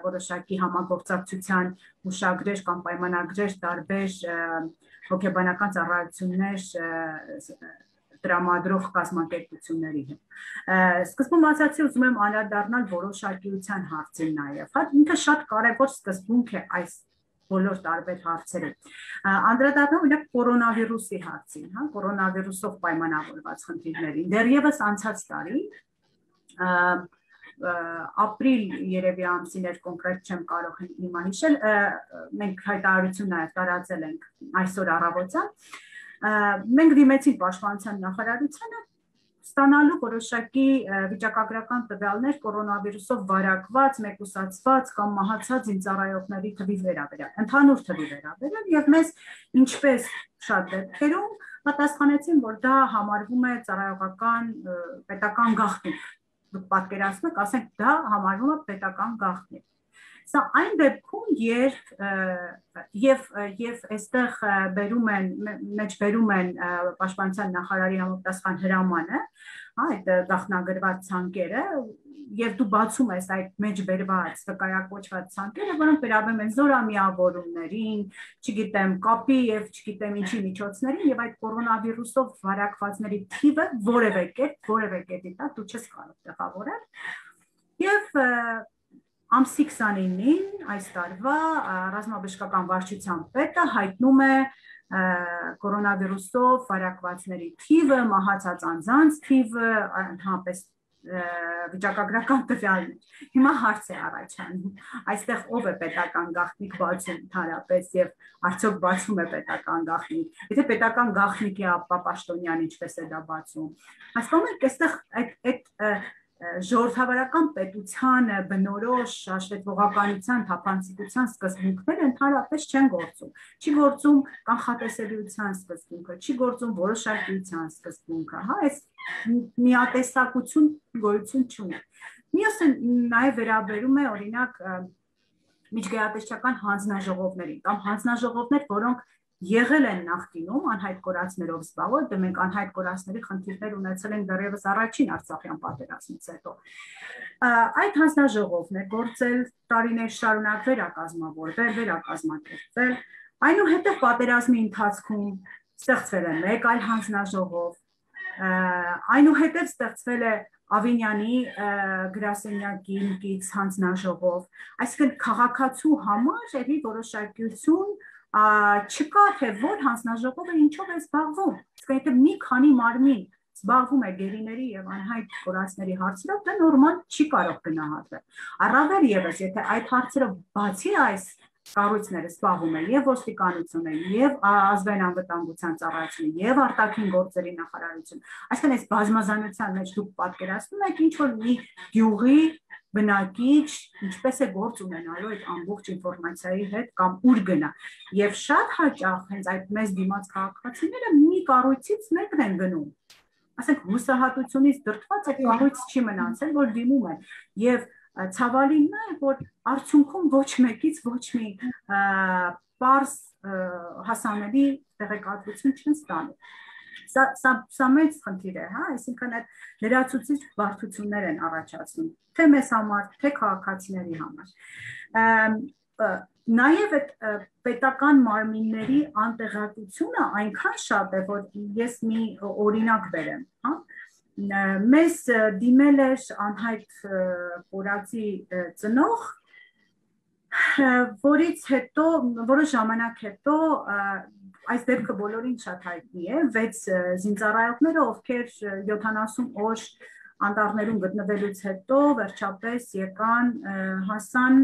որոշակի համագործակցության հուշագրեր կամ պայմանագրեր տարբեր հոգեբանական ծառայություններ տրամադրող կազմակերպությունների հետ։ Սկզբում ասացի, ուզում եմ անդրադառնալ որոշակիության հարցին նաև։ Ինքը շատ կարևոր սկզբունք է այս բոլոր տարբեր հարցերում։ Անդրադառնալ օրինակ կորոնավիրուսի հարցին, կորոնավիրուսով պայմանավորված խնդիրներին։ Դեռևս անցած տարի ապրիլ երևի ամսին էր, կոնկրետ չեմ կարող հիմա հիշել, մենք հայտարարություն նաև տարածել ենք այսօր առավոտյան, մենք դիմեցինք Պաշտպանության նախարարությանը ստանալու որոշակի վիճակագրական տվյալներ կորոնավիրուսով վարակված, մեկուսացված կամ մահացած զինծառայողների թվի վերաբերյալ, ընդհանուր թվի վերաբերյալ, եւ մեզ ինչպես շատ դեպքերում պատասխանեցին, որ դա համարվում է ծառայողական պետական գաղտնիք։ Դուք պատկերացնում եք, ասենք դա համարվում է պետական գաղտնիք։ Սա այն դեպքում, երբ այստեղ բերում են Պաշտպանության նախարարի համապատասխան հրամանը, այդ գաղտնագրված ցանկերը, եւ դու բացում ես այդ մեջ բերված վկայակոչված ցանկերը, որոնք վերաբերում են զորամիավորումներին, չգիտեմ, կապի եւ չգիտեմ ինչի միջոցներին, եւ այդ կորոնավիրուսով վարակվածների թիվը որևէ կետի տակ դու չես կարող տեղավորել։ Եվ ամսի 29-ին այս տարվա ռազմաբժշկական վարչության պետը հայտնում է կորոնավիրուսով վարակվածների թիվը, մահացած անձանց թիվը, ընդհանրապես վիճակագրական տվյալներ։ Հիմա հարց է առաջանում, այստեղ ով է պետական գաղտնիք բացում ընդհանրապես եւ արդյոք բացում է պետական գաղտնիք։ Եթե պետական գաղտնիք է, ապա Պաշտոնյան ինչպես է դա բացում։ Հասկանում եք, այստեղ այդ ժողովրդավարական պետությանը բնորոշ հաշվետվողականության, թափանցիկության սկզբունքները ընդհանրապես չեն գործում։ Չի գործում կանխատեսելիության սկզբունքը, չի գործում որոշակիության սկզբունքը, այս միատեսակություն գոյություն չունի։ Մյուսը նաև վերաբերում է օրինակ միջգայատեսչական հանձնաժողովներին կամ հանձնաժողովներ, որոնք եղել են նախկինում անհայտ կորածներով զբաղված, դե մենք անհայտ կորածների խնդիրներ ունեցել ենք դեռևս առաջին Արցախյան պատերազմից հետո։ Այդ հանձնաժողովն է գործել տարիներ շարունակ, վերակազմավորվել, վերակազմակերպվել, այնուհետև պատերազմի ընթացքում ստեղծվել է մեկ այլ հանձնաժողով, այնուհետև ստեղծվել է Ավինյանի գրասենյակի կից հանձնաժողով, այսինքն քաղաքացու համար էլի որոշակիություն չկա, թե որ հանձնաժողովը ինչով է զբաղվում, իսկ եթե մի քանի մարմին զբաղվում է գերիների եւ անհայտ կորածների հարցերով, դա նորմալ չի կարող գնահատվել։ Առավել եւս, եթե այդ հարցերը բացի այս կառույցները զբաղվում են եւ ոստիկանությունը, եւ ազգային անվտանգության ծառայությունը, եւ արտաքին գործերի նախարարությունը, այսինքն այս բազմազանության մեջ դուք պատկերացնում եք ինչ որ մի գյուղի բնակիչ ինչպես է գործ ունենալու այդ ամբողջ ինֆորմացիայի հետ կամ ուր գնա։ Եվ շատ հաճախ հենց այդ մեզ դիմաց քաղաքացիները մի կառույցից մեկն են գնում։ Ասենք հուսահատությունից դրդված այդ կառույց չի մնացել, որ դիմում են։ Եվ ցավալին է, որ արդյունքում ոչ մեկից ոչ մի պարզ հասանելի տեղեկատվություն չեն ստանում։ Սա մեծ խնդիր է, այսինքն այդ լրացուցիչ բարդություններ են առաջացնում, թե մեզ համար, թե քաղաքացիների համար։ Նաև այդ պետական մարմինների անտեղատությունը այնքան շատ է, որ ես մի օրինակ բերեմ, մեզ դիմել էր անհայտ կորածի ծնող, որից հետո որոշ ժամանակ հետո այս դեպքը բոլորին շատ հայտնի է 6 զինծառայողները, ովքեր 70 օր անտառներում գտնվելուց հետո վերջապես եկան, հասան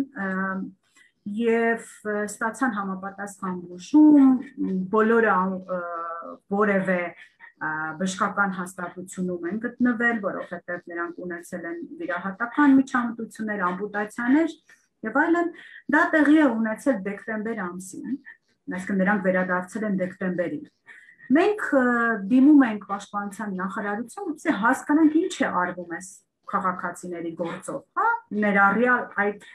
եւ ստացան համապատասխան բուժում, բոլորը որևէ բժշկական հաստատությունում են գտնվել, որովհետեւ նրանք ունեցել են վիրահատական միջամտություններ, ամպուտացիաներ եւ այլն, դա տեղի է ունեցել դեկտեմբեր ամսին, այսինքն նրանք վերադարձել են դեկտեմբերին։ Մենք դիմում ենք պաշտպանության նախարարություն, որպեսզի հասկանանք ինչ է արվում այս քաղաքացիների գործով, հա, ներառյալ այդ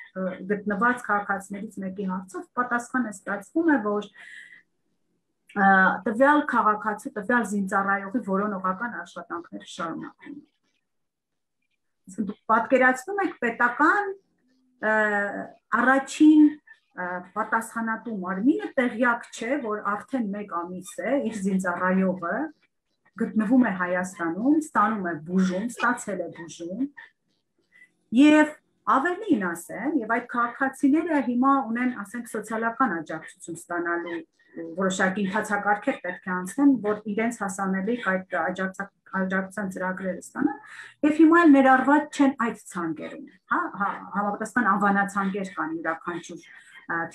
գտնված քաղաքացիներից մեկի հարցով պատասխանը ստացվում է, որ տվյալ քաղաքացու, տվյալ զինծառայողի որոնողական աշխատանքները շարունակվում են։ Իսկ դուք պատկերացնում եք պետական առաջին պատասխանատու մարմինը տեղյակ չէ, որ արդեն 1 ամիս է իր զինծառայողը գտնվում է Հայաստանում, ստանում է բուժում, ստացել է բուժում եւ ավելին ասեմ, եւ այդ քաղաքացիները հիմա ունեն, ասենք, սոցիալական աջակցություն ստանալու որոշակի ընթացակարգեր պետք է անցնեն, որ իրենց հասանելիք այդ աջակցության ծրագրերը ստանան, եւ հիմա էլ ներառված չեն այդ ցանկերում, հա, համապատասխան անվանացանկեր կան յուրաքանչյուր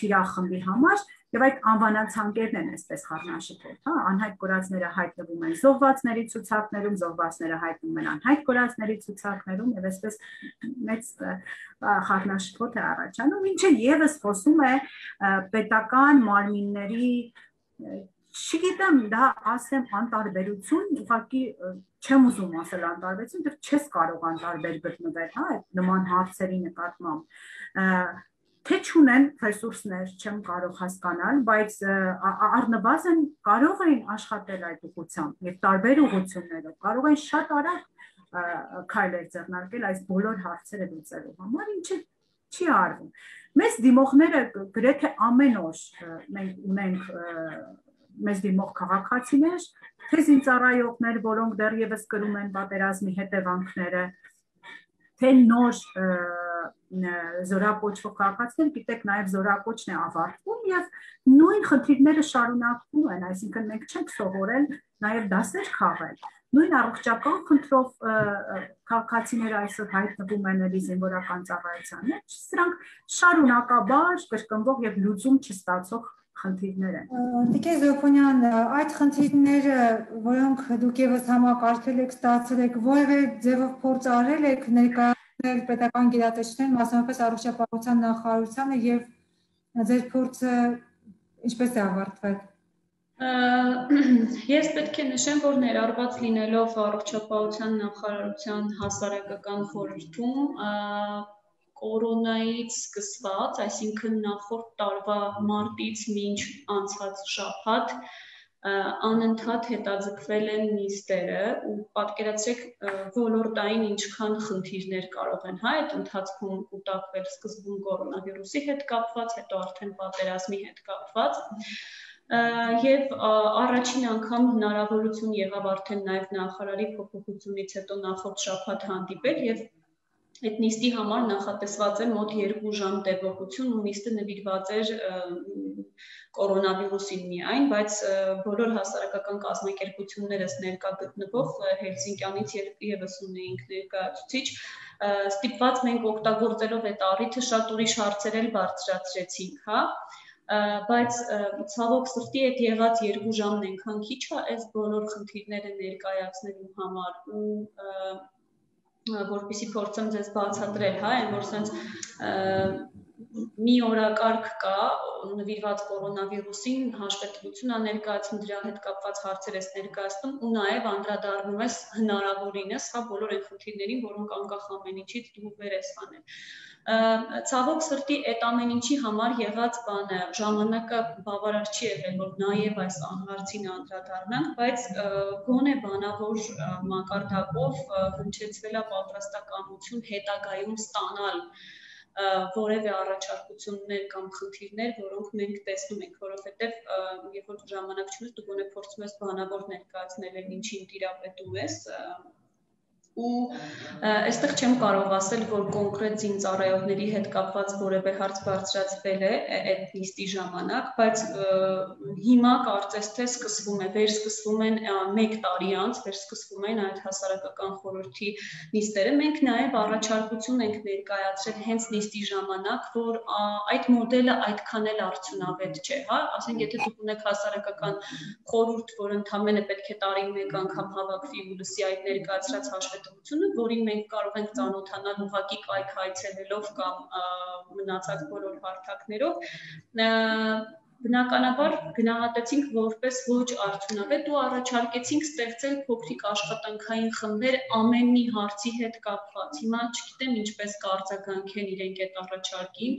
թիրախմբի համար, եւ այդ անվանացանկերն են այսպես խառնաշփոթ, հա, անհայտ կորածները հայտնվում են զոհվածների ցուցակներում, զոհվածները հայտնվում են անհայտ կորածների ցուցակներում եւ այսպես մեծ խառնաշփոթ է առաջանում, ինչը եւս խոսում է պետական մարմինների, չգիտեմ, դա ասեմ անտարբերություն, ուղղակի չեմ ուզում ասել անտարբերություն, դեռ չես կարող անտարբեր գտնվել, հա, այդ նման հարցերի նկատմամբ, թե չունեն ռեսուրսներ, չեմ կարող հասկանալ, բայց առնվազն կարող են աշխատել այդ ուղղությամբ եւ տարբեր ուղղություններով, կարող են շատ արագ քայլեր ձեռնարկել այս բոլոր հարցերը լուծելու համար, ինչը չի արվում։ Մեզ դիմողները գրեթե ամեն օր մենք ունենք մեզ դիմող քաղաքացիներ, թե զինծառայողներ, որոնք դեռևս կրում են պատերազմի հետևանքները, թե նոր զորակոչվող քաղաքացիներ, գիտեք, նաև զորակոչն է ավարտվում եւ նույն խնդիրները շարունակվում են, այսինքն մենք չենք սովորել նաև դասեր քաղել։ Նույն առողջական խնդրով քաղաքացիները այսօր հայտնվում են էլի զինվորական ծառայության մեջ, սրանք շարունակաբար կրկնվող եւ լուծում չստացող խնդիրներ են։ Տիկին Զոփոնյան, այդ խնդիրները, որոնք դուք եւս համակարգել եք, ստացել եք, որևէ ձևով փորձ արել եք ներկայացնել պետական գերատեսչներին, մասնավորապես առողջապահության նախարարությանը եւ ձեր փորձը ինչպես է ավարտվել։ Ես պետք է նշեմ, որ ներառված լինելով առողջապահության նախարարության հասարակական խորհրդում կորոնայից սկսված, այսինքն նախորդ տարվա մարտից մինչ անցած շաբաթ անընդհատ հետաձգվել են նիստերը ու պատկերացրեք ոլորտային ինչքան խնդիրներ կարող են այդ ընթացքում կուտակվել սկզբում կորոնավիրուսի հետ կապված, հետո արդեն պատերազմի հետ կապված եւ առաջին անգամ հնարավորություն եղավ արդեն նաեւ նախարարի փոփոխությունից հետո նախորդ շաբաթ հանդիպել եւ այդ նիստի համար նախատեսված է մոտ 2 ժամ տևողություն ու նիստը նվիրված էր կորոնավիրուսին միայն, բայց բոլոր հասարակական կազմակերպություններս ներկա գտնվող Հելսինկյանից եւս ունեինք ներկայացուցիչ, ստիպված մենք օգտագործելով այդ առիթը շատ ուրիշ հարցեր էլ բարձրացրեցինք, հա, բայց ցավոք սրտի այդ եղած 2 ժամն այնքան քիչ է այս բոլոր խնդիրները ներկայացնելու համար ու որպեսզի փորձեմ ձեզ բացատրել, հա, այն որ sense մի օրակարգ կա նվիրված կորոնավիրուսին, հաշվետվություն է ներկայացնում դրա հետ կապված հարցեր ես ներկայացնում ու նաև անդրադառնում ես հնարավորինս, հա, բոլոր այն խնդիրներին, որոնք անկախ ամեն ինչից դու վեր ես հանել։ Ցավոք սրտի այդ ամեն ինչի համար եղած բանը ժամանակը բավարար չի եղել, որ նաև այս հարցին անդրադառնանք, բայց գոնե բանավոր մակարդակով հնչեցվել է պատրաստակամություն հետագայում ստանալ որևէ առաջարկություններ կամ խնդիրներ, որոնք մենք տեսնում ենք, որովհետև երբ որ ժամանակ չունես, դու գոնե փորձում ես բանավոր ներկայացնել այն ինչին տիրապետում ես ու այստեղ չեմ կարող ասել, որ կոնկրետ զինծառայողների հետ կապված որևէ հարց բարձրացվել է այդ նիստի ժամանակ, բայց հիմա կարծես թե վերսկսվում են 1 տարի անց, վերսկսվում են այդ հասարակական խորհրդի նիստերը։ Մենք նաև առաջարկություն ենք ներկայացրել հենց նիստի ժամանակ, որ այդ մոդելը այդքան էլ արդյունավետ չէ, հա, ասենք եթե դուք ունեք հասարակական խորհուրդ, որ ընդամենը պետք է տարին 1 անգամ հավաքվի ու լսի այդ ներկայացրած հաշվետվությունը, որին մենք կարող ենք ծանոթանալ ուղղակի կայք այցելելով կամ մնացած բոլոր հարթակներով, բնականաբար գնահատեցինք որպես ոչ արդյունավետ ու առաջարկեցինք ստեղծել փոքրիկ աշխատանքային խմբեր ամեն մի հարցի հետ կապված։ Հիմա չգիտեմ ինչպես կարձագանք են իրենք այդ առաջարկին,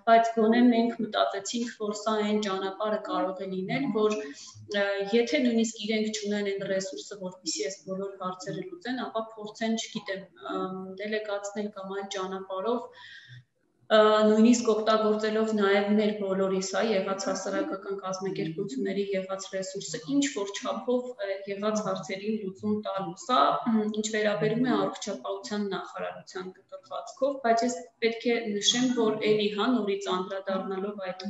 բայց գոնե մենք մտածեցինք, որ սա այն ճանապարհը կարող է լինել, որ եթե նույնիսկ իրենք չունեն այն ռեսուրսը, որպեսզի այս բոլոր հարցերը լուծեն, ապա փորձեն, չգիտեմ, դելեգացնել կամ այլ ճանապարհով նույնիսկ օգտագործելով նաև մեր բոլորիս եղած հասարակական կազմակերպությունների եղած ռեսուրսը ինչ որ չափով եղած հարցերին լուծում տալու։ Սա ինչ վերաբերում է առողջապահության նախարարության կտրվածքով, բայց ես պետք է նշեմ, որ էլի նորից անդրադառնալով այդ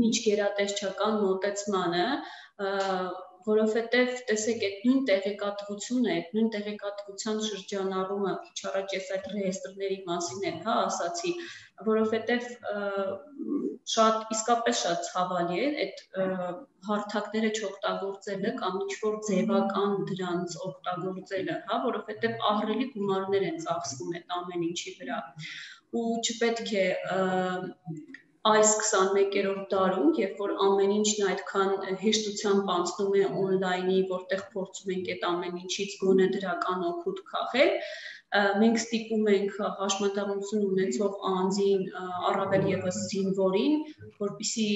միջգերատեսչական մոտեցմանը, որովհետև տեսեք այդ նույն տեղեկատվությունը, այդ նույն տեղեկատվության շրջանառումը, քիչ առաջ ես այդ ռեեստրների մասին էլ ասացի, որովհետև իսկապես շատ ցավալի է այդ հարթակները չօգտագործելը կամ ինչ-որ ձևական դրանց օգտագործելը, որովհետև ահռելի գումարներ են ծախսվում այդ ամեն ինչի վրա ու չպետք է այս 21-րդ դարում, երբ որ ամեն ինչն այդքան հեշտությամբ անցնում է on-line-ի, որտեղ փորձում ենք այդ ամեն ինչից գոնե դրական օգուտ քաղել, մենք ստիպում ենք հաշմանդամություն ունեցող անձին, առավել ևս զինվորին, որպեսզի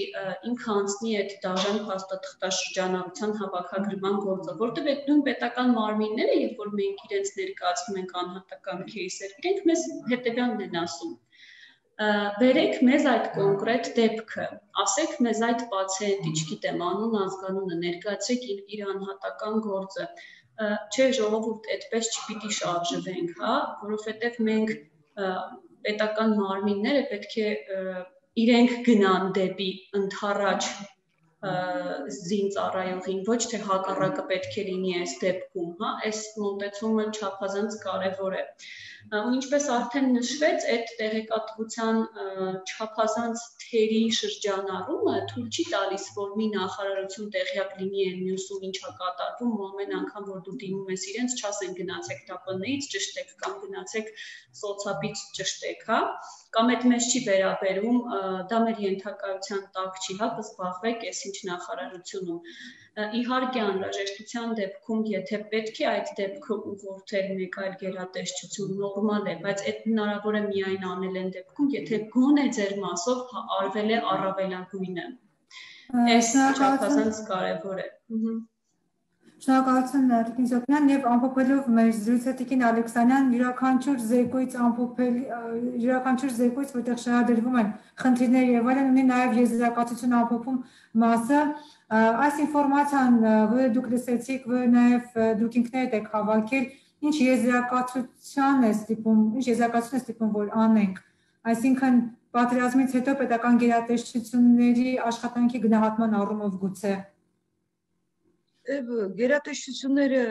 ինքը անցնի այդ դաժան փաստաթղթաշրջանառության հավաքագրման գործը, որտեղ այդ նույն պետական մարմինները, երբ որ մենք իրենց ներկայացնում ենք անհատական кейսեր, իրենք մեզ հետևյալն են ասում. Վերեք մեզ այդ կոնկրետ դեպքը, ասեք մեզ այդ պացիենտի, չգիտեմ, անուն, ազգանունը, ներկայացրեք իր անհատական գործը, չէ ժողովուրդ, այդպես չպիտի շարժվենք, որովհետև մենք պետական մարմինները պետք է իրենք գնան դեպի ընդառաջ զինծառայողին, ոչ թե հակառակը պետք է լինի այս դեպքում, այս մոտեցումը չափազանց կարևոր է։ Ու ինչպես արդեն նշվեց, այդ տեղեկատվության չափազանց թերի շրջանառումը թույլ չի տալիս, որ մի նախարարություն տեղյակ լինի այն մյուսում ինչա կատարվում, ու ամեն անգամ, որ դու դիմում ես իրենց, չասեն գնացեք ՏՊՆ-ից ճշտեք կամ գնացեք սոցապից ճշտեք, կամ այդ մեզ չի վերաբերում, դա մեր ենթակայության տակ չի, կզբաղվեք այս ինչ նախարարությունում։ Իհարկե անհրաժեշտության դեպքում, եթե պետք է այդ դեպքը ուղղորդել մեկ այլ գերատեսչություն, նորմալ է, բայց այդ հնարավոր է միայն անել այն դեպքում, եթե գոնե ձեր մասով արվել է առավելագույնը։ Այս չափազանց կարևոր է։ Շնորհակալություն Տիկին Զոհրաբյան եւ ամփոփելով մեր զրույցը Տիկին Ալեքսանյան, յուրաքանչյուր զեկույց, որտեղ շահադրվում են խնդիրներ եւ այլն, ունի նաեւ եզրակացություն ամփոփում մասը։ Այս ինֆորմացիան, որը դուք լսեցիք, որը նաեւ դուք ինքներդ եք հավաքել, ինչ եզրակացություն է ստիպում, որ անենք։ Այսինքն պատերազմից հետո պետական գերատեսչությունների աշխատանքի գնահատման առումով գուցե գերատեսչությունները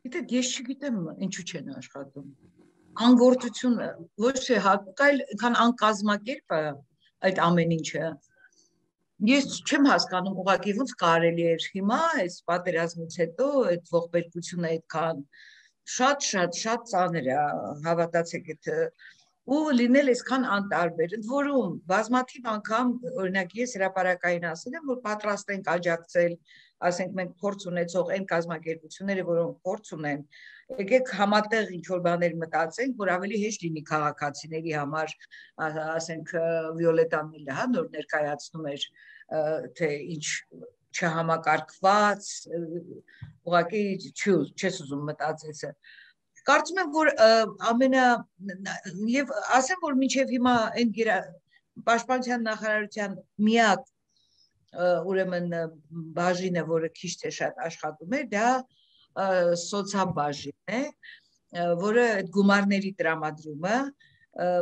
գիտեք, ես չգիտեմ ինչու չեն աշխատում։ Անգործությունը ոչ թե այլ քան անկազմակերպ է այդ ամեն ինչը։ Ես չեմ հասկանում ուղղակի ոնց կարելի էր հիմա այս պատերազմից հետո այդ ողբերգությունը այդքան շատ ծանր է, հավատացեք այդ ու լինել այսքան անտարբեր, ընդ որում բազմաթիվ անգամ օրինակ ես հրապարակային ասել եմ, որ պատրաստ ենք աջակցել, ասենք մենք փորձ ունեցող այն կազմակերպությունները, որոնք փորձ ունեն, եկեք համատեղ ինչ-որ բաներ մտածենք, որ ավելի հեշտ լինի քաղաքացիների համար, ասենք Վիոլետան Միլը, նոր ներկայացնում էր, թե ինչ չհամակարգված, ուղղակի չես ուզում մտածել։ Կարծում եմ, որ եւ ասեմ, որ մինչեւ հիմա այն պաշտպանության նախարարության միակ ուրեմն բաժինը, որը քիչ թե շատ աշխատում էր, դա սոցիալբաժին է, որը այդ գումարների տրամադրումը,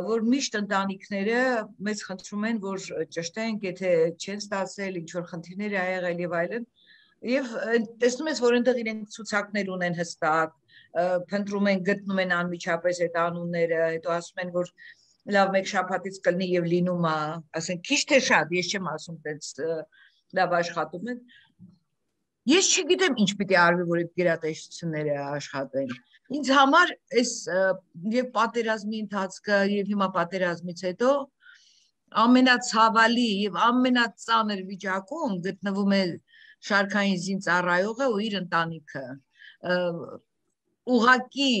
որ միշտ ընտանիքները մեզ խնդրում են, որ ճշտենք, եթե չեն ստացել, ինչ որ խնդիրներ ա եղել եւ այլն, եւ տեսնում ես, որ այնտեղ իրենք ցուցակներ ունեն հստակ, փնտրում են, գտնում են անմիջապես այդ անունները, հետո ասում են, որ լավ մեկ շաբաթից կլինի եւ լինում է, ասենք քիչ թե շատ, ես չեմ ասում տենց լավ աշխատում են։ Ես չգիտեմ ինչ պիտի արվի, որ այդ գերատեսչությունները աշխատեն։ Ինձ համար այս եւ պատերազմի ընթացքը եւ հիմա պատերազմից հետո ամենացավալի եւ ամենածանր վիճակում գտնվում է շարքային զինծառայողը ու իր ընտանիքը։ Ուղղակի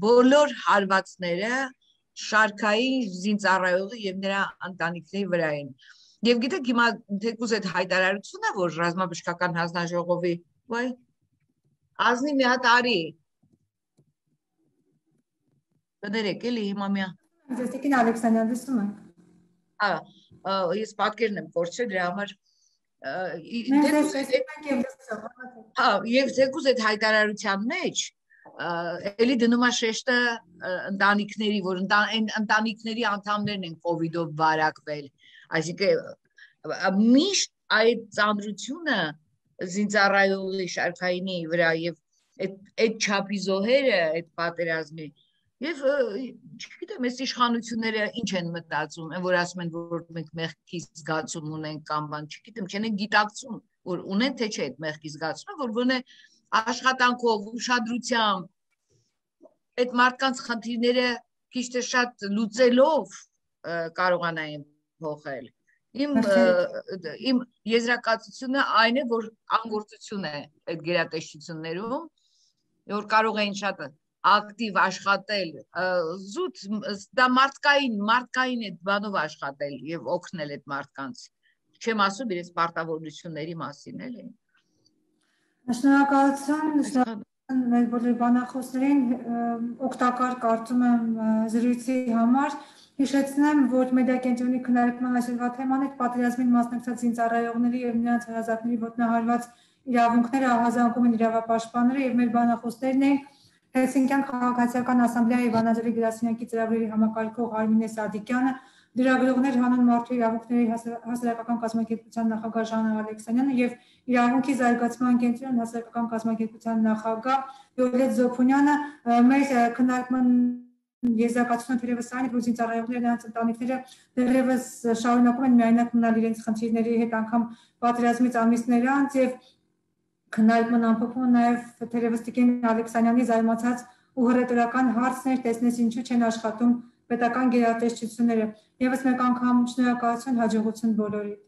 բոլոր հարվածները շարքային զինծառայողը եւ նրա ընտանիքների վրա են։ Եվ գիտեք, հիմա թեկուզ այդ հայտարարությունը, որ ռազմաբժշկական հանձնաժողովի, վայ, ազնի մի հատ արի։ Կներեք, էլի հիմա միա։ Ձեստիկին Ալեքսանյան լսում ենք։ Ես պատկերն եմ կորցրել, դրա համար եւ թեկուզ այդ հայտարարության մեջ էլի դնում է շեշտը ընտանիքների, որ ընտանիքների անդամներն են կովիդով վարակվել, այսինքն միշտ այդ ծանրությունը զինծառայողի շարքայինի վրա եւ այդ չափի զոհերը այդ պատերազմի եւ չգիտեմ այս իշխանությունները ինչ են մտածում, որ ասում են, որ մենք մեղքի զգացում ունենք կամ բան, չգիտեմ, չեն գիտակցում, որ ունեն թե չէ այդ մեղքի զգացումը, որ գոնե աշխատանքով, ուշադրությամբ այդ մարդկանց խնդիրները քիչ թե շատ լուծելով կարողանային փոխել։ Իմ եզրակացությունը այն է, որ անգործություն է այդ գերատեսչություններում, որ կարող էին շատ ակտիվ աշխատել, զուտ դա մարդկային այդ բանով աշխատել եւ օգնել այդ մարդկանց։ Չեմ ասում իրենց պարտավորությունների մասին, էլի։ Շնորհակալություն մեր բոլոր բանախոսներին, օգտակար կարծում եմ զրույցի համար։ Հիշեցնեմ, որ մեդիակենտրոնի քննարկման այսօրվա թեման է պատերազմին մասնակցած զինծառայողների եւ նրանց հարազատների ոտնահարված իրավունքները, ահազանգում են իրավապաշտպանները եւ մեր բանախոսներն են Հելսինկյան քաղաքացիական ասամբլեայի Վանաձորի գրասենյակի ծրագրերի համակարգող Արմինե Սադիկյանը, դրագրողներ Հանուն մարդու իրավունքների հասարակական կազմակերպության նախագահ Ժանա Ալեքսանյանը եւ իրավունքի զարգացման կենտրոն հասարակական կազմակերպության նախագահ Վիոլետ Զոփունյանը մեր քննարկման եզրակացությունը թերևս այն է, որ զինծառայողները նրանց ընտանիքները դեռևս շարունակում են միայնակ մնալ իրենց խնդիրների հետ անգամ պատերազմից ամիսներ անց եւ քննարկման ամփոփումը նաեւ թերևս Տիկին Ալեքսանյանի զարմացած ու հռետորական հարցներ տեսնես ինչու չեն աշխատում պետական գերատեսչությունները։ Եվս մեկ անգամ շնորհակալություն, հաջողություն բոլորիդ։